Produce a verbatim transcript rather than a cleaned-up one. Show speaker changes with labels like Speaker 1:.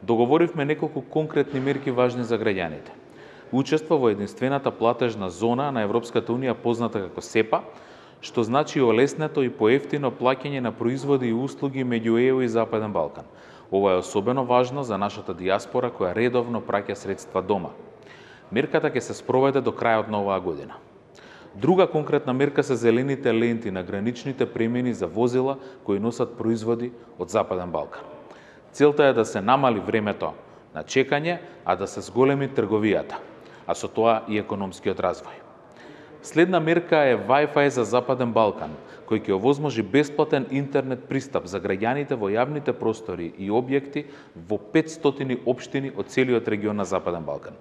Speaker 1: Договоривме неколку конкретни мерки важни за граѓаните. Учество во единствената платежна зона на Европската унија позната како СЕПА, што значи олеснето и поевтино плаќање на производи и услуги меѓу ЕУ и Западен Балкан. Ова е особено важно за нашата дијаспора која редовно праќа средства дома. Мерката ќе се спроведе до крајот на оваа година. Друга конкретна мерка се зелените ленти на граничните премини за возила кои носат производи од Западен Балкан. Целта е да се намали времето на чекање, а да се зголеми трговијата, а со тоа и економскиот развој. Следна мерка е Wi-Fi за Западен Балкан, кој ќе овозможи бесплатен интернет пристап за граѓаните во јавните простори и објекти во петстотини општини од целиот регион на Западен Балкан.